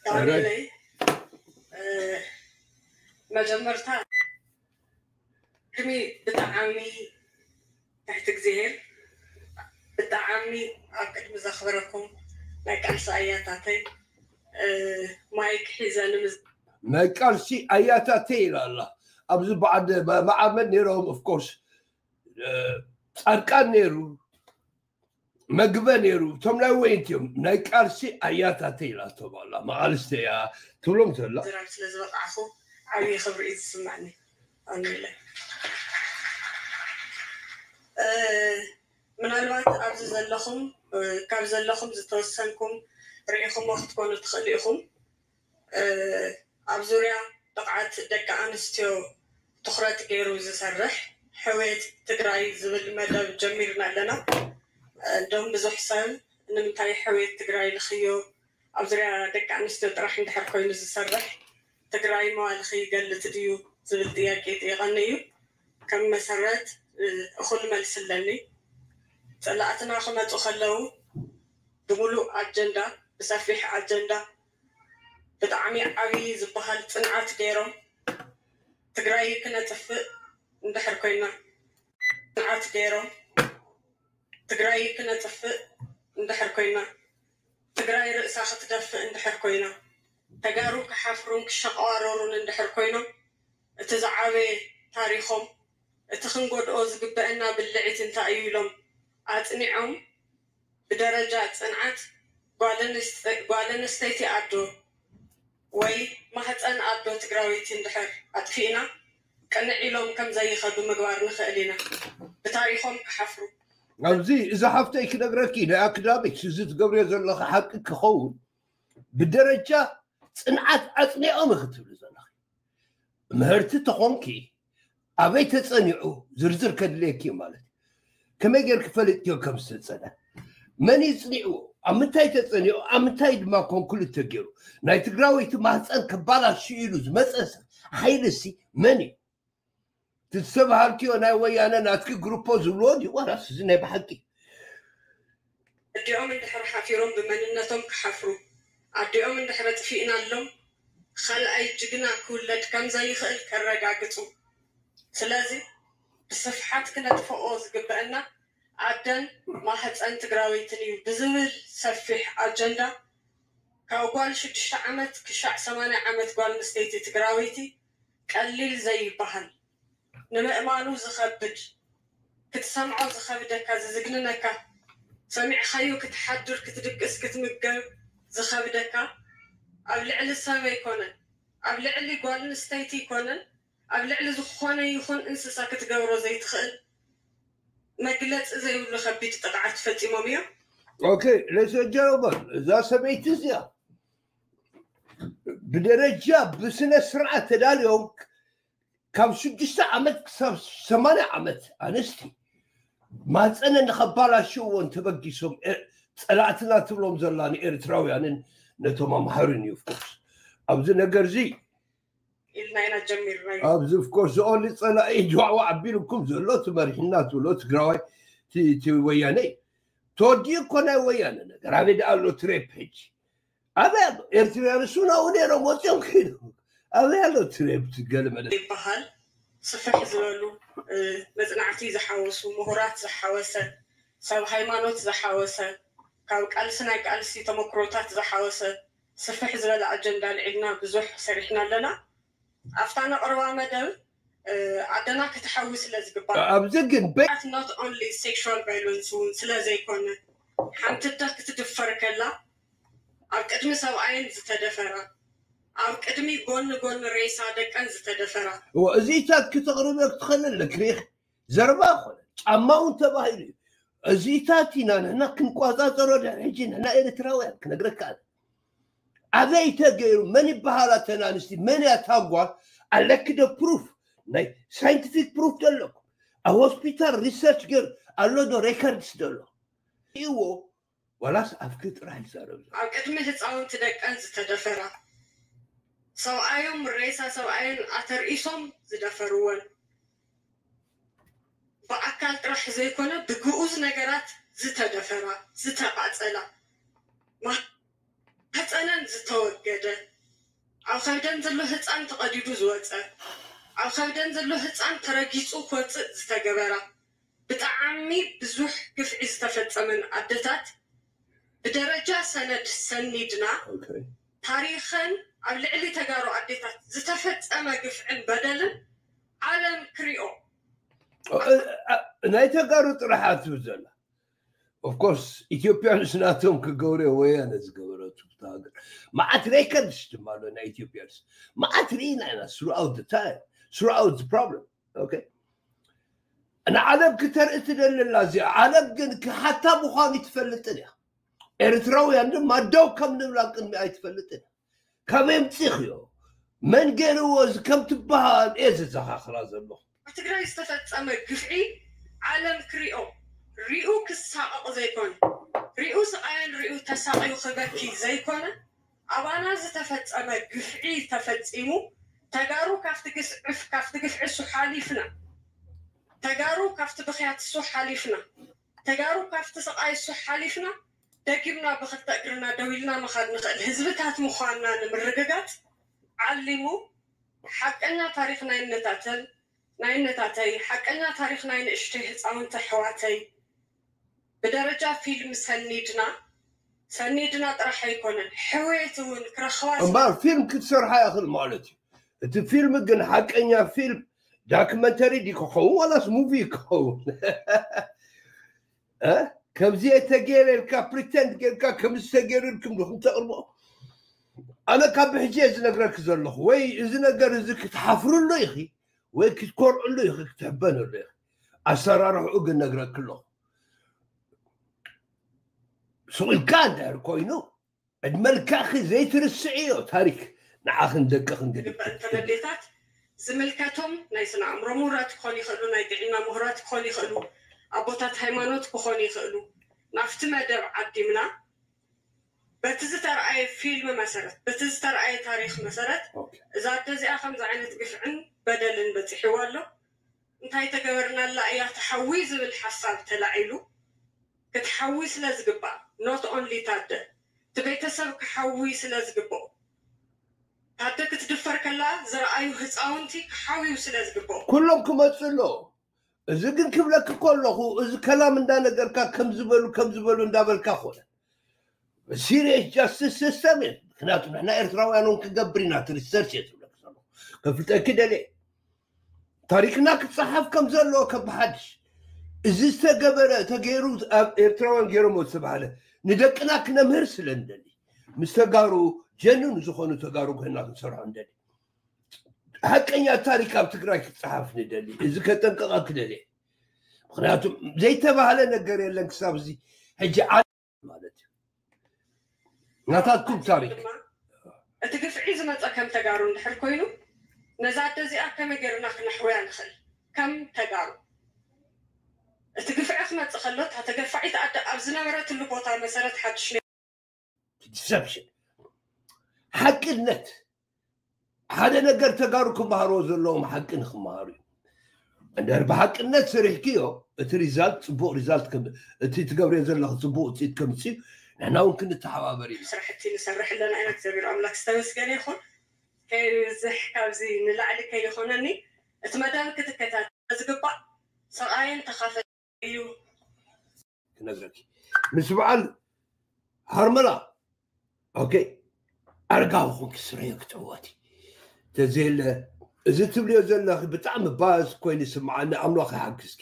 ዳንኤለይ፣ እ፣ መጀመርታ ቅድሚ ብጣዕሚ ትሕቲ እግዚኣብሔር ብጣዕሚ ኣብ ቅድሚ ዘኽብረኩም ናይ ቃልሲ ኣያታተይ፣ እ፣ ማይክ ሒዘ ንምዝ- ናይ ቃልሲ ኣያታተይ ኢላ ኣላ። ኣብዚ በዓል መዓመድ ነይሮም፣ ኦፍኮርስ ጻድቃን ነይሩ፣ መግበ ነይሩ። እቶም ናይ ወይንቲ እዮም፣ ናይ ቃልሲ ኣያታተይ ኢላቶም ኣላ። መቓልስተ እያ ትብሎም ዘላ። ዝራብ ስለ ዝበቃዕኹ ዓብዪ ክብሪ እዩ ዝስማዕኒ። ኣሜለ ምናልባት ኣብዚ ዘለኹም ካብ ዘለኹም ዝተወሰንኩም ርኢኹሞ ክትኮኑ ትኽእሉ ኢኹም። ኣብ ዙርያ ብቕዓት ደቂ ኣንስትዮ ትኹረት ገይሩ ዝሰርሕ ሕውየት ትግራይ ዝብል መደብ ጀሚርና ኣለና። እንደውም ብዙሕ ሰብ ንምንታይ ሕውየት ትግራይ ልኽዮ ኣብ ዙርያ ደቂ ኣንስትዮ ጥራሕ እንድሕር ኮይኑ ዝሰርሕ ትግራይ መዋልኺ ይገልፅ ድዩ ዝብል ጥያቄ ይጥይቐኒ እዩ። ከም መሰረት እኹል መልሲ ኣለኒ። ፀላእትና ክመፁ ከለዉ ብምሉእ ኣጀንዳ ብሰፊሕ ኣጀንዳ ብጣዕሚ ዓብዪ ዝበሃል ፅንዓት ገይሮም ትግራይ ክነጥፍእ እንድሕር ኮይና ፅንዓት ገይሮም ትግራይ ክነጥፍእ እንድሕር ኮይና ትግራይ ርእሳ ክትደፍእ እንድሕር ኮይና ተጋሩ ክሓፍሩን ክሸቀዋረሩን እንድሕር ኮይኖም እቲ ዝዓበየ ታሪኾም እቲ ክንጎድኦ ዝግበአና ብልዒት እንታይ እዩ ኢሎም ኣፅኒዖም ብደረጃ ፅንዓት ጓል ኣንስተይቲ ኣዶ ወይ ማህፀን ኣዶ ትግራወይቲ እንድሕር ኣጥፊእና ቅንዕ ኢሎም ከም ዘይኸዱ ምግባር ንኽእል ኢና። ብታሪኾም ክሓፍሩ። ኣብዚ እዛ ሓፍተይ ክነግረኪ ናይ ኣክዳሚክስ እዚ ትገብርዮ ዘለኺ ሓቂ ክኸውን ብደረጃ ፅንዓት ኣፅኒዖም ክትብሊ ዘለኺ ምህርቲ ተኾንኪ ኣበይ ተፀኒዑ ዝርዝር ከድልየኪ ማለት እዩ። ከመይ ጌርኪ ፈሊጥክዮ ከም ዝተፀነ መን እዩ ፅኒዕዎ ኣብ ምንታይ ተፀኒዑ ኣብ ምንታይ ድማ ኮንክሉድ ተገይሩ ናይ ትግራወይቲ ማህፀን ከባላሽ ኢሉ ዝመፀ ሓይልሲ መን እዩ? ትዝተባሃልክዮ ናይ ወያነ ናትኪ ግሩፖ ዝብልዎ ድዩ ዋላስ እዚ ናይ ብሓቂ? ኣዲኦም እንድሕር ሓፊሮም ብመንነቶም ክሓፍሩ ኣዲኦም እንድሕር ኣጥፊእናሎም ካልኣይ ጅግና ክውለድ ከም ዘይኽእል ከረጋግፁ። ስለዚ ብስፍሓት ክነጥፍኦ ዝግበአና ኣደን ማህፀን ትግራወይትን እዩ ብዝብል ሰፊሕ ኣጀንዳ ካብ ጓል ሽዱሽተ ዓመት ክሻዕ ሰማንያ ዓመት ጓል ኣንስተይቲ ትግራወይቲ ቀሊል ዘይበሃል ንምእማኑ ዝኸብድ ክትሰምዖ ዝኸብደካ ዝዝግንነካ ሰሚዕኻዮ ክትሓድር ክትድቅስ ክትምገብ ዝኸብደካ ኣብ ልዕሊ ሰብ ኣይኮነን ኣብ ልዕሊ ጓል ኣንስተይቲ ኣይኮነን ኣብ ልዕሊ ዝኾነ ይኹን እንስሳ ክትገብሮ ዘይትኽእል መግለፂ ዘይብሉ ከቢድ ጥቕዓት ፈፂሞም እዮም። ኦኬ ሌሰጀሮበር እዛ ሰበይቲ እዚኣ ብደረጃ ብስነ ስርዓት ተዳልዮም ካብ ሽዱሽተ ዓመት ክሳብ ሰማንያ ዓመት ኣንስቲ ማፀነ ንኸባላሽዎ እንተበጊሶም ፀላእትና ትብሎም ዘላ ንኤርትራውያንን ነቶም ኣምሃርን እዩ ፍኩስ ኣብዚ ነገር እዚ ኢልና ኢና ጀሚርናዮ። ኣብዚ ፍኮርስ ኦንሊ ፀላኢ ጅዋዕዋዕ ኣቢልኩም ዘሎ ትመሪሕና ትብሎ ትግራዋይ እቲ ወያነ ተወዲኡ እኮ ናይ ወያነ ነገር ኣበይ ደኣ ኣሎ ትሬፕ ሕጂ ኣበይ ኣሎ ኤርትራውያን እሱ ናብኡ ነይሮም ወፂኦም ከይዶም ኣበይ ኣሎ ትሬፕ ገለ መለ ይበሃል ስፍሕ ዝበሉ መፅናዕቲ ዝሓወሱ ምሁራት ዝሓወሰ ሰብ ሃይማኖት ዝሓወሰ ካብ ቃልሲ ናይ ቃልሲ ተመክሮታት ዝሓወሰ ስፍሕ ዝበለ ኣጀንዳ ኣልዒልና ብዙሕ ሰሪሕና ኣለና። ኣብታ ነቕርባ መደብ ኣደና ክትሓዊ ስለ ዝግባእ ኣብዚ ግን not only sexual violence እውን ስለ ዘይኮነ ሓንቲ ኣደ ክትድፈር ከላ ኣብ ቅድሚ ሰብኣየን ዝተደፈራ ኣብ ቅድሚ ጎኒ ጎኒ ሬሳ ደቀን ዝተደፈራ እዚታት ክተቕርበ ክትኸእል ኣለክሪኽ ዘረባ ኮነ ጫማ እውን ተባሂሉ እዩ። እዚታት ኢና ንሕና ክንቆፃፀሮ ድሕሪ ሕጂ ንሕና ኤርትራውያን ክነግረካ ኣነ። ኣበይ ተገይሩ መን ይበሃላ ተን ኣንስቲ መን እያ ታጓል ኣለኪ ዶ ፕሩፍ ናይ ሳይንቲፊክ ፕሩፍ ዶ ኣለኩም ኣብ ሆስፒታል ሪሰርች ገይሩ ኣሎ ዶ ሬከርድስ ዶ ኣሎ እዎ ዋላስ ኣብኪ ጥራሕ ይዛረብ ዘሎ ኣብ ቅድሚ ህፃውንቲ ደቀን ዝተደፈራ ሰብኣዮም ሬሳ ሰብኣየን ኣተርኢሶም ዝደፈርወን ብኣካል ጥራሕ ዘይኮነ ብግኡዝ ነገራት ዝተደፈራ ዝተቓፀላ ማህፀነን ዝተወ ዝተወገደ፣ ኣብ ከብደን ዘሎ ህፃን ተቐዲዱ ዝወፀ፣ ኣብ ከብደን ዘሎ ህፃን ተረጊፁ ክወፅእ ዝተገበራ፣ ብጣዕሚ ብዙሕ ግፍዒ ዝተፈፀመን ኣደታት ብደረጃ ሰነድ ሰኒድና ታሪኸን ኣብ ልዕሊ ተጋሩ ኣዴታት ዝተፈፀመ ግፍዕን በደልን ዓለም ክሪኦ ናይ ተጋሩ ጥራሕ ኣትብል ዘላ ኦፍኮርስ ኢትዮጵያንስ ናቶም ክገብርዮ ወያነ ዝገበረቱ ሃገር መዓት ሬከርድስ ድማ ኣሎ ናይ ኢትዮጵያንስ መዓት ርኢና ኢና ስሩኣውት ታይም ስሩኣውት ፕሮብለም ንዓለም ክተርኢ ትደሊ ኣላ እዚኣ ዓለም ግን ክሓታ ምዃኑ ኣይትፈልጥን እያ ኤርትራውያን ድማ ደው ከም ንብላ ቅድሚ ኣይትፈልጥን እያ ካበይ ኣምፂኽዮ መን ገይርዎ እዚ ከም ትበሃል እየ ዝዘኻኽራ ዘለኹ ኣብ ትግራይ ዝተፈፀመ ግፍዒ ዓለም ክሪኦ ሪኡ ክሳቐቕ ዘይኮነ ሪኡ ስቓየን ሪኡ ተሳቒዩ ክበኪ ዘይኮነ ኣባና ዝተፈፀመ ግፍዒ ተፈፂሙ ተጋሩ ካብቲ ግስዕፍ ካብቲ ግፍዒ እሱ ሓሊፍና ተጋሩ ካብቲ ብኽያት እሱ ሓሊፍና ተጋሩ ካብቲ ስቓይ እሱ ሓሊፍና ደጊምና ብኽልተ እግርና ደው ኢልና ምኻድ ንኽእል ህዝብታት ምዃንና ንምርግጋፅ ዓሊሙ ሓቀኛ ታሪኽ ናይነታተን ናይነታተይ ሓቀኛ ታሪኽ ናይ ንእሽተይ ህፃውንቲ ኣሕዋተይ ብደረጃ ፊልም ሰኒድና ሰኒድና ጥራሕ ኣይኮነን ሕውየት እውን ክረኽባ እምበር ፊልም ክትሰርሓ ይኽእል ማለት እዩ እቲ ፊልም ግን ሓቀኛ ፊልም ዳክመንተሪ ዲ ክኸውን ዋላስ ሙቪ ክኸውን ከምዚ የተገይረ ኢልካ ፕሪተንድ ጌርካ ከምዚ ተገይሩ ኢልኩም ዶ ክምተቕርቦ ኣነ ካብ ብሕጂ እየ ዝነግረክ ዘለኹ ወይ እዚ ነገር እዚ ክትሓፍርሉ ኢኺ ወይ ክትኮርዕሉ ኢኺ ክትሕበነሉ ኢኺ ኣሰራርሕኡ ግን ነግረክ ኣለኹ ስቕ ኢልካ እንድሕር ኮይኑ ዕድመ ልክዕኺ ዘይትርስዕዮ ታሪክ ንዓኽን ደቅኽን ገዲፍክን። ዝግበኣን ተመዴታት ዝምልከቶም ናይ ስነ ኣእምሮ ምሁራት ክኾኑ ይኽእሉ፣ ናይ ጥዕና ምሁራት ክኾኑ ይኽእሉ፣ ኣቦታት ሃይማኖት ክኾኑ ይኽእሉ። ናብቲ መደብ ዓዲምና በቲ ዝተርኣየ ፊልም መሰረት፣ በቲ ዝተርኣየ ታሪኽ መሰረት እዛ ኣደ እዚኣ ከምዚ ዓይነት ግፍዕን በደልን በፂሕዋ ኣሎ። እንታይ ተገበርናላ እያ ትሓዊ ዝብል ሓሳብ ተላዒሉ ክትሓዊ ስለ ዝግባእ not only ታደ እቲ ቤተሰብ ክሓዊ ስለ ዝግብኦ ታደ ክትድፈር ከላ ዝረኣዩ ህፃውንቲ ክሓውዩ ስለ ዝግብኦ ኩሎም ክመፁ ኣሎ እዚ ግን ክብለክ ከለኹ እዚ ከላም እንዳነገርካ ከም ዝበሉ ከም ዝበሉ እንዳበልካ ኮነ serious justice system እዩ ምክንያቱ ንሕና ኤርትራውያን እውን ክገብር ኢና እቲ research እየ ዝብለክ ዘለኹ ከፍልጠኪ ደልየ ታሪክና ክፀሓፍ ከም ዘለዎ ከብሓድሽ እዚ ዝተገበረ ተገይሩ ኣብ ኤርትራውያን ገይሮሞ ዝተባሃለ ንደቅና ክነምህር ስለ ንደሊ ምስ ተጋሩ ጀኑን ዝኾኑ ተጋሩ ኮይና ክንሰርሖ ንደሊ ሓቀኛ ታሪክ ኣብ ትግራይ ክፀሓፍ ንደሊ እዚ ከጠንቀቐ ክደልየ ምክንያቱ ዘይተባህለ ነገር የለን ክሳብ እዚ ሕጂ ማለት እዩ ናታትኩም ታሪክ እቲ ግፍዒ ዝመፀ ከም ተጋሩ እንድሕር ኮይኑ ነዛ ኣደ እዚኣ ከመይ ገይርና ክነሕውያ ንኽእል ከም ተጋሩ እቲ ግፍዒ ክመፅእ ከሎ እታ ተገፋዒት ኣደ ኣብ ዝነበረትሉ ቦታ መሰረት ሓድሽ deception ሓቅነት ሓደ ነገር ተጋሩ ክመሃርዎ ዘለዎም ሓቂ ንክመሃሩ እዩ እንድሕር ብሓቅነት ሰሪሕክዮ እቲ ሪዛልት ፅቡቅ ሪዛልት እቲ ትገብርዮ ዘለኹ ፅቡቅ ውፅኢት ከምፅእ ንሕና እውን ክንተሓባበር እዩ ስራሕቲ ንሰርሕ ኣለና ኢና እግዚኣብሔር ኣምላክ ዝተመስገነ ይኹን ከይብዝሕ ካብዚ ንላዕሊ ከይኾነኒ እቲ መደብ ክትከታተል ዝግባእ ሰብኣየን ተኻፈል እዩ ክነግረኪ ምስ በዓል ሃርመላ ኦኬ ኣርጋዊ ኮንኪ ስረዮ ክትዕወቲ ተዘየለ እዚ ትብልዮ ዘለኺ ብጣዕሚ ባስ ኮይኑ ይስምዓኒ ኣምላኽ ይሓግዝኪ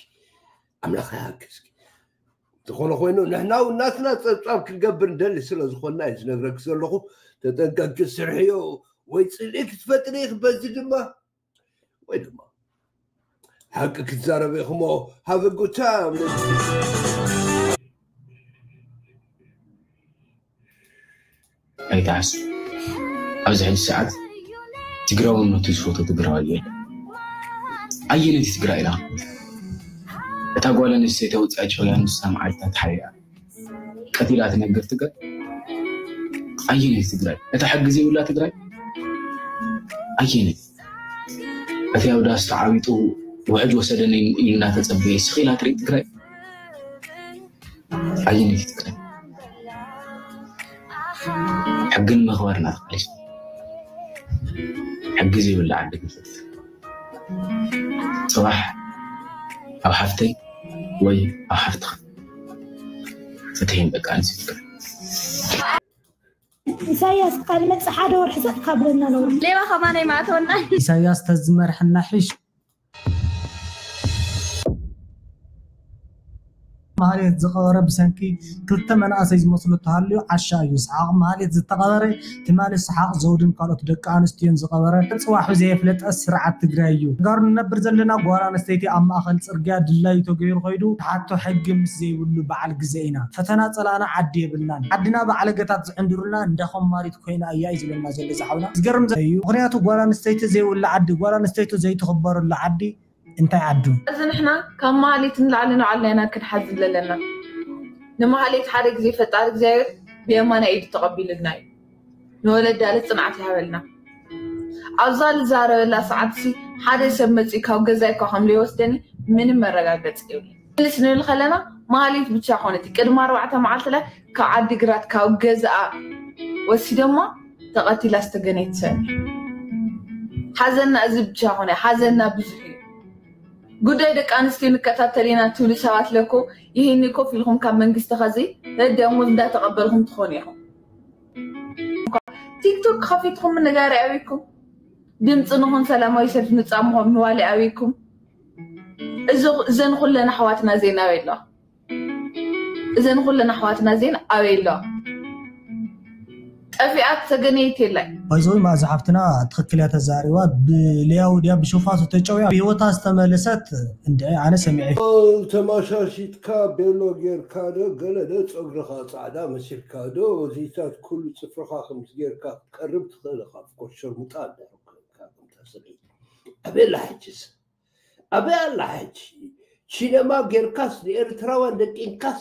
ኣምላኽ ይሓግዝኪ ዝኾነ ኮይኑ ንሕና እውን ናትና ፀብፃብ ክንገብር ንደሊ ስለ ዝኾንና እዩ ዝነግረኪ ዘለኹ ተጠንቀቂ ስርሕዮ ወይ ፅልኢ ክትፈጥሪ ኢኺ በዚ ድማ ወይ ድማ ሓቂ ክትዛረብ ኢኹሞ have a good time ኣይትሓስ ኣብዚ ሕጂ ሰዓት ትግራዊ ነቱ ዝፈቶ ትግራዋይ የለ ኣየነይቲ ትግራይ ኢላ እታ ጓል ኣንስተይቲ ውፅኣ ጭውያ ንሳ መዓልታት ሓያ ቀቲላ ትነግር ትግራይ ኣየነይቲ ትግራይ እታ ሕጊ ዘይብላ ትግራይ ኣየነይቲ እቲ ኣብ ዳስ ተዓቢጡ ውሕጅ ወሰደኒ ኢሉ እናተፀበየ ስኺላ ትርኢ ትግራይ ኣየነይቲ ትግራይ ሕጊ ንምኽባር እናተቓለስና፣ ሕጊ ዘይብሉ ዓዲ ግፍት፣ ጽባሕ ኣብ ሓፍተይ ወይ ኣብ ሓፍትኻ ፍትሒ ንደቂ ኣንስትዮ ትግራይ። ኢሳያስ ቃል መጽ ሓደ ወርሒ ጸጥ ካብለና ነው። ሌባ ከማን ኣይማእተወና። ኢሳያስ ተዝመርሐና ሕሽ። ማህሌት ዝቐበረ ብሰንኪ ክልተ መናእሰይ ዝመስሉ ተሃልዩ ዓሻ እዩ። ሰሓቕ ማህሌት ዝተቐበረ ትማሊ ሰሓቕ ዘውድን ካልኦት ደቂ ኣንስትዮን ዝቐበረ ጽባሑ ዘየፍለጠ ስርዓት ትግራይ እዩ። ተጋሩ ንነብር ዘለና ጓል ኣንስተይቲ ኣብ ማእኸል ጽርግያ ድላዩ ተገይሩ ከይዱ ተሓቶ ሕጊ ምስ ዘይብሉ በዓል ግዘ ኢና። ፈተና ጸላእና ዓዲ የብልናን። ዓድና ባዕለገታት ዝዕንድሩልና እንዳ ኮማሪት ኮይና እያ እዩ ዝብለና ዘሎ እዚ ሓውና። ዝገርም ዘ- እዩ። ምኽንያቱ ጓል ኣንስተይቲ ዘይብሉ ዓዲ፣ ጓል ኣንስተይቲ ዘይትኽበረሉ ዓዲ እንታይ ዓዱ? እዚ ንሕና ካብ ማህሌት ንላዕሊ ንባዕልና ኢና ክንሓዝን ዘለና። ንማህሌት ሓደ ግዜ ፈጣሪ እግዚኣብሔር ብየማና ኢዱ ተቐቢሉልና እዩ። ንወለዳ ልጽንዓት ይሃበልና። ኣብዛ ልዛረበላ ሰዓትሲ ሓደ ሰብ መጺኡ ካብ ገዛይ እኳ ከም ዘይወስደኒ ምንም መረጋገጺ የብለይን። ምልስ ንብል ከለና ማህሌት ብቻ ኮነት ቅድሚ ኣርባዕተ መዓልቲ ላይ ካብ ዓዲግራት ካብ ገዝኣ ወሲዶማ ተቐቲላ ዝተገነየት ሰብ። ሓዘንና እዚ ብቻ ኮነ፣ ሓዘንና ብዙሕ እዩ። ጉዳይ ደቂ ኣንስትዮ ንከታተል ኢና ትብሉ ሰባት ለኮ ይህኒ ኮፍ ኢልኩም ካብ መንግስቲ ኸዚ ደሞዝ እንዳተቐበልኩም ትኾኑ ኢኹም። ቲክቶክ ከፊትኩም ምንጋሪ ኣበይኩም? ድምፂ ንኹን ሰላማዊ ሰልፊ ንፃምኹም ንዋሊ ኣበይኩም? እዚ- እዘን ኩለን ኣሕዋትና ዜና ኣበይ ኣለዋ? እዘን ኩለን ኣሕዋትና ዜና ኣበይ ኣለዋ? ጠፊኣት ተገነየት የላይ። ባይዘወይ ማእዛ ሓፍትና ትኽክል እያ ተዛሪባ። ብልያው ድያ ብሽፋቱ ተጨውያ ብህይወታ ዝተመለሰት እንድዒ ኣነ ሰሚዐ። ተማሻሺጥካ ቤሎ ጌርካ ዶ ገለ ዶ ፀጉርኻ ፃዕዳ መሲልካ ዶ እዚታት ኩሉ ፅፍርኻ ከምዚ ጌርካ ክትቀርብ ትኽእል ኢኻ። ፍኮር ሸርሙጣ እንዳረብካ ከምታ ሰበይቲ ኣበይ ኣላ ሕጅስ? ኣበይ ኣላ ሕጂ? ቺነማ ጌርካስ ንኤርትራውያን ደቂንካስ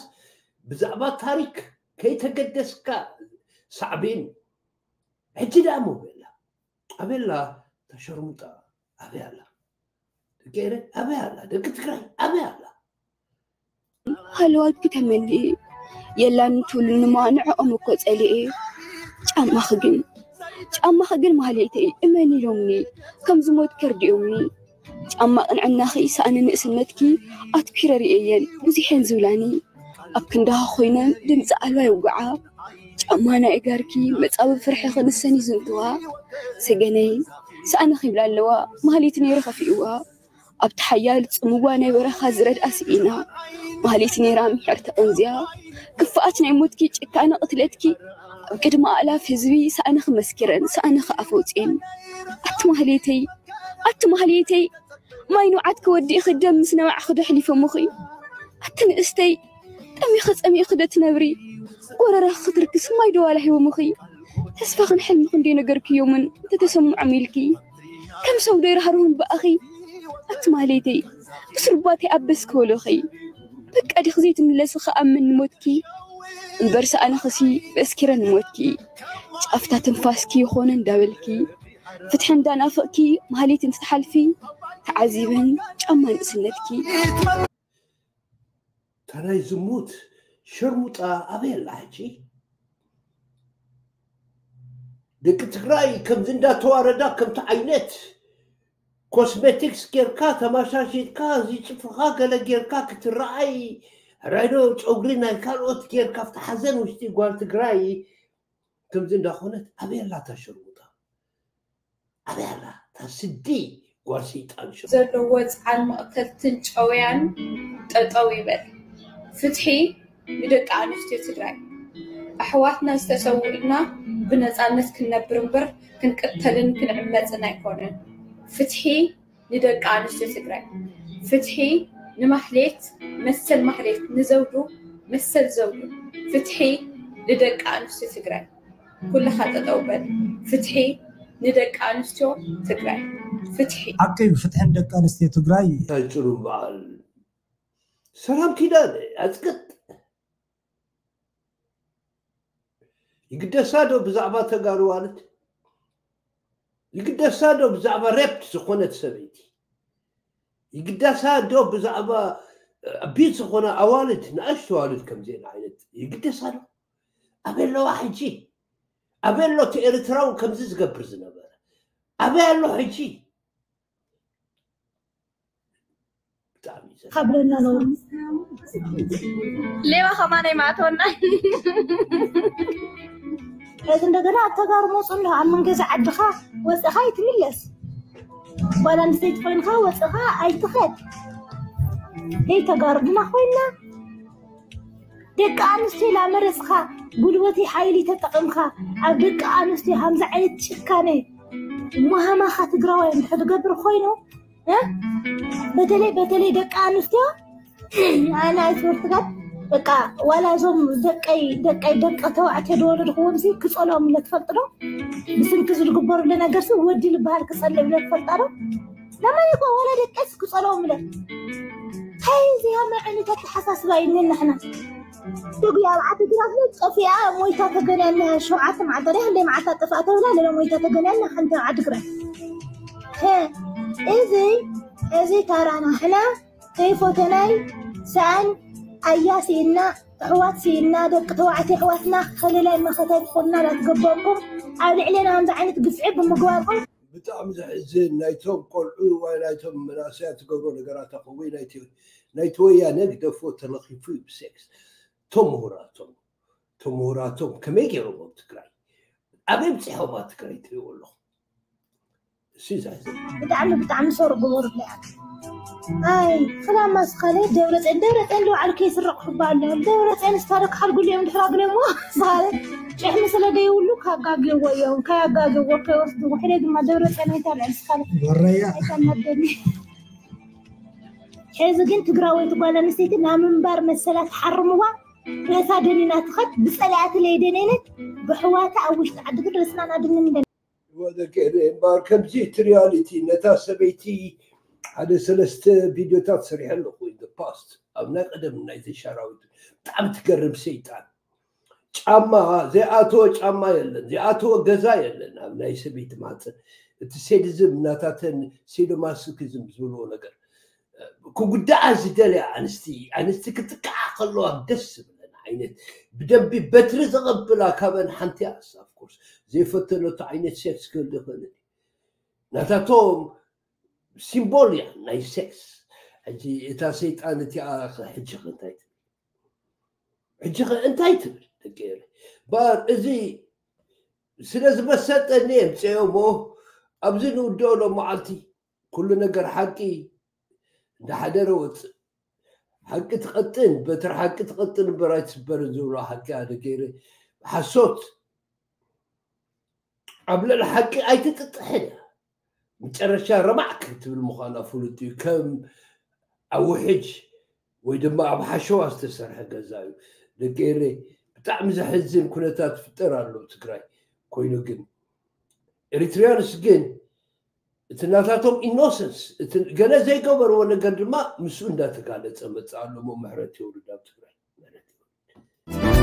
ብዛዕባ ታሪክ ከይተገደስካ ሳዕቤን ሕጂ ደኣ ሞ በላ ኣበላ ተሸርሙጣ ኣበይ ኣላ? ደቂ ኤረ ኣበይ ኣላ? ደቂ ትግራይ ኣበይ ኣላ? ሃለዋትኪ ተመንየ የላን ትብሉኒ እሞ ንዕኦም እኮ ጸሊኤ። ጫማኺ ግን ጫማኺ ግን ማህሌተይ እመኒ ኢሎምኒ ከም ዝሞት ከርዲኦምኒ። ጫማ ቅንዕናኺ ሳእኒ ንእስነትኪ ኣትኲረ ርእየየን ብዙሕ እየን ዝብላኒ። ኣብ ክንዳኻ ኮይነን ድምፂ ኣልባ የውግዓ። ጫማ ናይ እጋርኪ መጻብብ ፍርሕኺ ንሰን ይዝንትዋ። ሰገነይ ሳእንኺ ይብላ ኣለዋ ማህሌት ነይሩ ከፊእዋ። ኣብቲ ሓያል ጽምዋ ናይ በረኻ ዝረድኣ ስኢና ማህሌት ነይራ ምሕርቲ ቀንዝያ። ክፍኣት ናይ ሞትኪ ጭካነ ቅትለትኪ ኣብ ቅድሚ ኣእላፍ ህዝቢ ሳእንኺ መስኪረን ሳእንኺ ኣፈውፅየን። ኣቲ ማህሌተይ ኣቲ ማህሌተይ ማይ ንውዓት ክወዲእኺ ደም ምስ ነባዕኺ ዶ ኣሕሊፎምኺ? ኣቲ ንእስተይ ጠሚኺ ጸሚእኺ ዶ ትነብሪ? ጎረራኺ ክትርክስ ማይ ዶ ዋላ ሂቦምኺ? ተስፋኽን ሕልምኽን ዶ ነገርክዮምን እንተተሰምዖም ኢልኪ? ከም ሰብ ዶ ይርሃርሁን ብኣኺ? ኣቲ ማህሌተይ ብስሩባተይ ኣበስ ክበሎኺ? በቃ ዲኺ ዘይትምለሲ ክኣምን ንሞትኪ? እምበር ሰኣንኽሲ በስኪረ ንሞትኪ። ጫፍታ ትንፋስኪ ይኾነ እንዳበልኪ ፍትሒ እንዳናፈቕኪ ማህሌት እንትትሓልፊ ተዓዚበን ጫማ ንእስነትኪ። እታ ናይ ዝሙት ሸርሙጣ ኣበይ ኣላ ሕጂ? ደቂ ትግራይ ከምዚ እንዳተዋረዳ ከምቲ ዓይነት ኮስሜቲክስ ጌርካ ተማሻሽጥካ እዚ ፅፍርኻ ገለ ጌርካ ክትረኣይ ራይዶ ጨጉሪ ናይ ካልኦት ጌርካ ኣብቲ ሓዘን ውሽጢ ጓል ትግራይ ከምዚ እንዳኾነት ኣበይ ኣላ እታ ሸርሙጣ? ኣበይ ኣላ እታ ስዲ ጓል ሰይጣን ሸርሙጣ? ዘለዎ ፃዕር መቕተልትን ጨውያን ጠጠው ይበል። ፍትሒ ንደቂ ኣንስትዮ ትግራይ ኣሕዋትና ዝተሰውእልና ብነፃነት ክንነብር እምበር ክንቅተልን ክንዕመፅን ኣይኮነን። ፍትሒ ንደቂ ኣንስትዮ ትግራይ፣ ፍትሒ ንማህሌት መሰል ማህሌት፣ ንዘውዱ መሰል ዘውዱ፣ ፍትሒ ንደቂ ኣንስትዮ ትግራይ። ኩልኻ ጠጠው በል። ፍትሒ ንደቂ ኣንስትዮ ትግራይ። ፍትሒ። ሓቂ እዩ፣ ፍትሒ ንደቂ ኣንስትዮ ትግራይ። እንታይ ፅሩም በዓል ሰላም ኪዳነ ኣፅቅጥ። ይግደሳ ዶ ብዛዕባ ተጋሩ ኣዋልድ? ይግደሳ ዶ ብዛዕባ ሬፕ ዝኾነት ሰበይቲ? ይግደሳ ዶ ብዛዕባ ኣቢዩዝ ዝኾነ ኣዋልድ፣ ንኣሽቱ ኣዋልድ ከምዚአን ዓይነት ይግደሳ ዶ? ኣበይ ኣለዋ ሕጂ? ኣበይ ኣሎ እቲ ኤርትራዊ ከምዚ ዝገብር ዝነበረ? ኣበይ ኣሎ ሕጂ? ብጣዕሚ እዩ ዘ- ካብለና ነው። ሌባ ከማን ኣይማእተወና። እዚ እንደገና ኣብ ተጋሩ መፁ ኣሎ ኣብ መንገዚ ዓድኻ ወፅኻ ይትምለስ። ጓል ኣንስተይቲ ኮይንካ ወፅኻ ኣይትኸድ። ደይ ተጋሩ ድና ኮይና ደቂ ኣንስትዮ ላመረፅኻ ጉልበቲ ሓይሊ ተጠቕምካ ኣብ ደቂ ኣንስትዮ ሃምዚ ዓይነት ጭካነ መሃማኻ ትግራዋይ እንድሕር ትገብር ኮይኑ እ? በተለይ በተለይ ደቂ ኣንስትዮ ኣነ ኣይትምህርቲ ጋር በቃ ዋላ እዞም ደቀይ ደቀይ ደቂ ተባዕትዮ ዝወለድክዎም ሲ ክፀልኦም ኢለ ትፈልጥ ዶ? ብስንኪ ዝግበሩለ ነገር ሲ ወዲ ዝበሃል ክፀልእ ኢለ ትፈልጣ ዶ? ለማይ እኮ ዋላ ደቀስ ክፀልኦም ኢለ እንታይ እዚኣ መዐኒት ኣተሓሳስባ ይንን ንሕና ትጉ ኣብ ዓዲ ግራት ለ ጠፊኣ ሞይታ ተገንያ እኒሃ ሸውዓተ መዓልታ ደ ክንደይ መዓልታ ጠፍኣ ተብላ ለለ ሞይታ ተገንያ እኒሃ ሓንቲ ኣብ ዓዲ ግራት ሀ፣ እዚ እዚ ታራና ሕና ከይፎተናይ ሰኣን ኣያ ስኢና ኣሕዋት ስኢና ደቂ ተባዕትዮ ኣሕዋትና ከለላይ መኸታይ ትኾንና ላትገበርኩም ኣብ ልዕሌና ከምዚ ዓይነት ግፍዒ ብምግባርኩም ብጣዕሚ ዘሕዝን ናይቶም ቆልዑ ወይ ናይቶም መናእሰያት ትገብሮ ነገራት ኣኸ ወይ ናይቲ ናይቲ ወያነ ግደፎ ተለኺፉ እዩ ብሴክስ ቶም ምሁራቶም ቶም ምሁራቶም ከመይ ገይሮም ኣብ ትግራይ ኣበይ ብፅሖም ኣብ ትግራይ ትሪእዎ ኣለኹም እሱ እዩ ዘሕዝን ብጣዕሚ ብጣዕሚ ሰሩ ግበሩ ኣይ ክላማ ስኻለ ደብረፅን ደብረፅን ልባዕሉ ከይስረቅ ክባ ኣሎ ደብረፅን ስታደ ክሓልጉሉ እዮም ድሕራ ግለሞ ስኻለ ጭሕሚ ስለ ደይብሉ ካጋግዎ እዮም ካያጋግዎ ከይወስዱ ውሕደ ድማ ደብረፅን ኣይታልዕል ስኻለ ወረያ ኣይታናደኒ ሕዚ ግን ትግራወይቲ ጓል ኣንስተይቲ ናብ ምንባር መሰላ ትሓርምዋ ርእሳ ደኒና ትኸድ ብፀላእቲ ለይደነነት ብሕዋታ ኣብ ውሽጢ ዓዲ ግን ርእስና ናድንን ወደገለ እምበኣር ከምዚ እቲ ሪያሊቲ ነታ ሰበይቲ ሓደ ሰለስተ ቪድዮታት ሰሪሐ ኣለኹ in the past ኣብ ናይ ቀደም ናይ ዘሻራዊት ብጣዕሚ ትገርም ሰይጣን ጫማ ዘይኣተወ ጫማ የለን ዘይኣተወ ገዛ የለን ኣብ ናይ ሰበይቲ ማፀ እቲ ሴዲዝም እናታተን ሴዶማስኪዝም ዝብልዎ ነገር ክጉዳኣ ዝደልያ ኣንስቲ ኣንስቲ ክጥቃዓ ከለዋ ደስ ዝብለን ዓይነት ብደንቢ በትሪ ዘቐብላ ካበን ሓንቲ ኣስ of course ዘይፈተነቶ ዓይነት ሴክስ ክህል ይኽእል ናታቶም ሲምቦል እያ ናይ ሴክስ ሕጂ እታ ሰይጣን እቲኣ ሕጂ እንታይ ትብል ሕጂ እንታይ ትብል ደቂ ባር እዚ ስለ ዝመሰጠኒ የምፅኦ እሞ ኣብዚ ንውድኦ ሎም መዓልቲ ኩሉ ነገር ሓቂ እንዳሓደረ ወፅእ ሓቂ ትቐጥን በትር ሓቂ ትቐጥን እምበር ኣይትስበርን ዝብሎ ሓቂ ኣነ ገይረ ሓሶት ኣብ ልዕሊ ሓቂ ኣይትጥጥሕን እያ መጨረሻ ረማዕ ክትብል ምዃና ፍሉጥ እዩ ከም ኣብ ውሕጅ ወይ ድማ ኣብ ሓሸዋ ዝተሰርሐ ገዛ እዩ ደቂ ኤሬ ብጣዕሚ ዘሕዝን ኩነታት ፍጠር ኣሎ ትግራይ ኮይኑ ግን ኤሪትሪያንስ ግን እቲ ናታቶም ኢኖሰንስ እቲ ገለ ዘይገበርዎ ነገር ድማ ምስኡ እንዳተጋለፀ መፅእ ኣሎ ሞ ምሕረት የውርድ ኣብ ትግራይ ማለት እዩ